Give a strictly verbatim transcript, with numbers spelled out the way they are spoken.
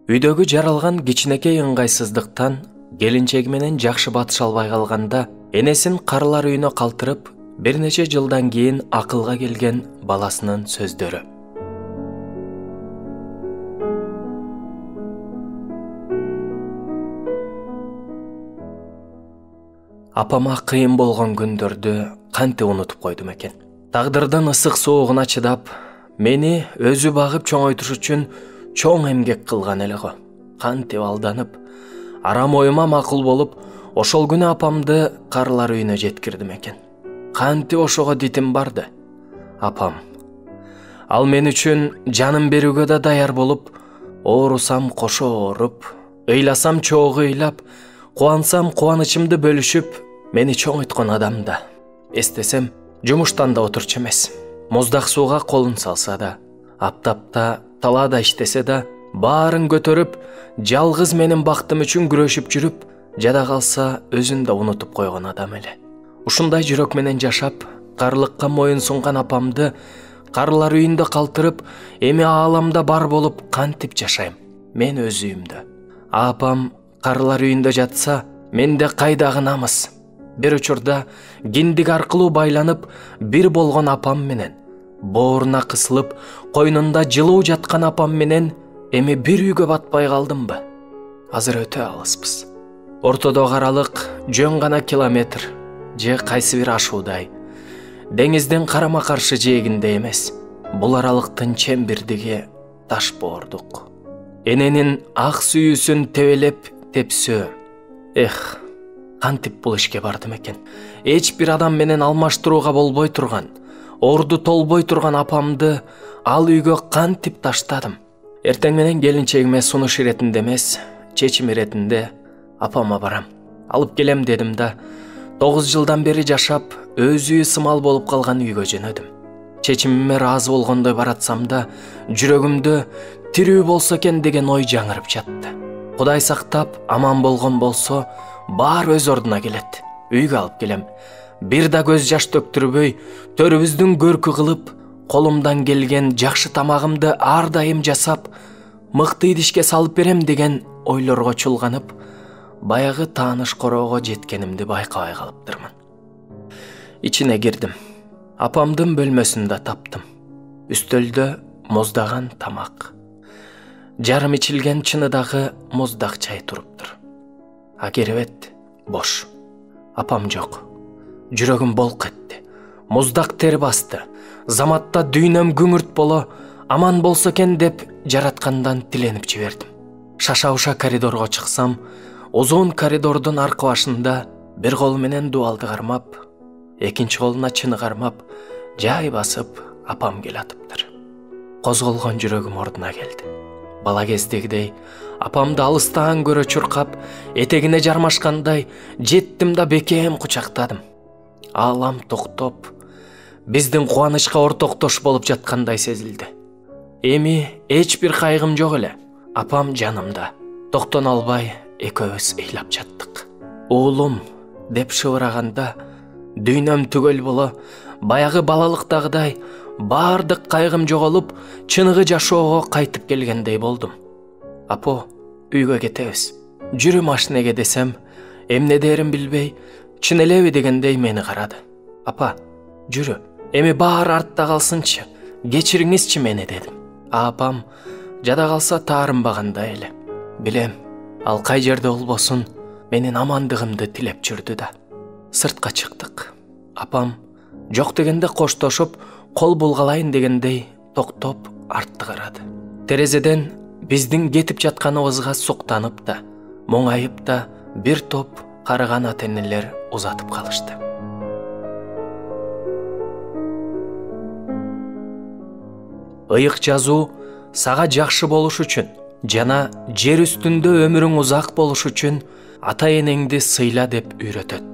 Үйдөгү жаралган кичинекей ыңгайсыздыктан келинчеги менен жакшы батыша албай калганда энесин карылар үйүнө калтырып, бир нече жылдан кийин акылга келген баласынын сөздөрү. Апама кыйын болгон күндөрдү кантип унутуп койдум экен. Тагдырдын ысык суугуна чыдап, мени өзү багып чоңойтуш үчүн чоң эмгек кылган эле го. Кантип алданып, арам оюма макул болуп, ошол күнү апамды карылар үйүнө жеткирдим экен. Кантип ошого дитим барды. Апам, ал мен үчүн жанын берүүгө да даяр болуп, оорусам кошо ооруп, ыйласам чогуу ыйлап, кубансам кубанычымды бөлүшүп, мени чоңойткон адам да. Эстесем, жумуштан да отурчу эмес. Муздак сууга колун салса да, аптапта, талаада иштесе да, баарын көтөрүп, жалгыз менин бактым үчүн күрөшүп жүрүп, жада калса өзүн да унутуп койгон адам эле. Ушундай жүрөк менен жашап, карылыкка моюн сунган апамды карылар үйүндө калтырып, эми ааламда бар болуп кантип жашайм? Мен өз үйүмдө. Апам карылар үйүндө жатса, менде кайдагы намыс? Бир учурда киндик аркылуу байланып, бир болгон апам менен, бооруна кысылып, койнунда жылуу жаткан апам менен эми бир үйгө батпай калдымбы? Азыр өтө алыспыз. Ортодогу аралык жөн гана километр, же кайсы бир ашуудай. Деңиздин карама каршы жээгинде эмес. Бул аралыктын чембирдиги таш боордук. Эненин ак сүйүүсүн тебелеп тепсөө. Эх, кантип бул ишке бардым экен? Эч бир адам менен алмаштырууга болбой турган, орду толбой турган апамды ал үйгө кантип таштадым? Эртең менен келинчегиме сунуш иретинде эмес, чечим иретинде апама барам. Алып келем дедим да, тогуз жылдан бери жашап, өз үйү сымал болуп калган үйгө жөнөдүм. Чечимиме ыраазы болгондой баратсам да, жүрөгүмдө тирүү болсо экен деген ой жаңырып жатты. Кудай сактап, аман болгон болсо, баары өз ордуна келет. Үйгө алып келем. Бир да көз жаш төктүрбөй, төрүбүздүн көркү кылып, колумдан келген жакшы тамагымды ар дайым жасап, мыкты идишке салып берем деген ойлорго чулганып, баягы тааныш короого жеткенимди байкабай калыптырмын. Ичине кирдим. Апамдын бөлмөсүндө таптым. Үстөлдө муздаган тамак. Жарым ичилген чыныдагы муздак чай туруптур. А керебет бош. Апам жок. Жүрөгүм болк этти. Муздак тер басты. Заматта дүйнөм күңүрт боло, аман болсо экен деп жараткандан тиленип жибердим. Шаша-уша коридорго чыксам, узун коридордун аркы башында бир кол менен дуалды кармап, экинчи колуна чыны кармап, жай басып апам келатыптыр. Козголгон жүрөгүм ордуна келди. Бала кездегидей апамды алыстан көрө чуркап, этегине жармашкандай жеттим да бекем кучактадым. Аалам токтоп, биздин кубанычка ортоктош болуп жаткандай сезилди. Эми эч бир кайгым жок эле. Апам жанымда. Токтоно албай экөөбүз ыйлап жаттык. Уулум деп шыбыраганда дүйнөм түгөл боло, баягы балалыктагыдай баардык кайгым жоголуп, чыныгы жашоого кайтып келгендей болдум. Апо, үйгө кетебиз. Жүрү машинеге десем, эмне дээрин билбей, чын элеби дегендей мени карады. Апа, жүрү, эми баары артта калсынчы, кечириңизчи мени дедим. Апам жада калса таарынбагандай эле. Билем, ал кай жерде болбосун, менин амандыгымды тилеп жүрдү да. Сыртка чыктык. Апам жок дегенде коштошуп, кол булгалайын дегендей токтоп артты карады. Терезеден биздин кетип жатканыбызга суктанып да, моңайып да бир топ карыган ата-энелер узатып калышты. Ыйык жазуу сага жакшы болуш үчүн жана жер үстүндө өмүрүң узак болуш үчүн ата-энеңди сыйла деп үйрөтөт.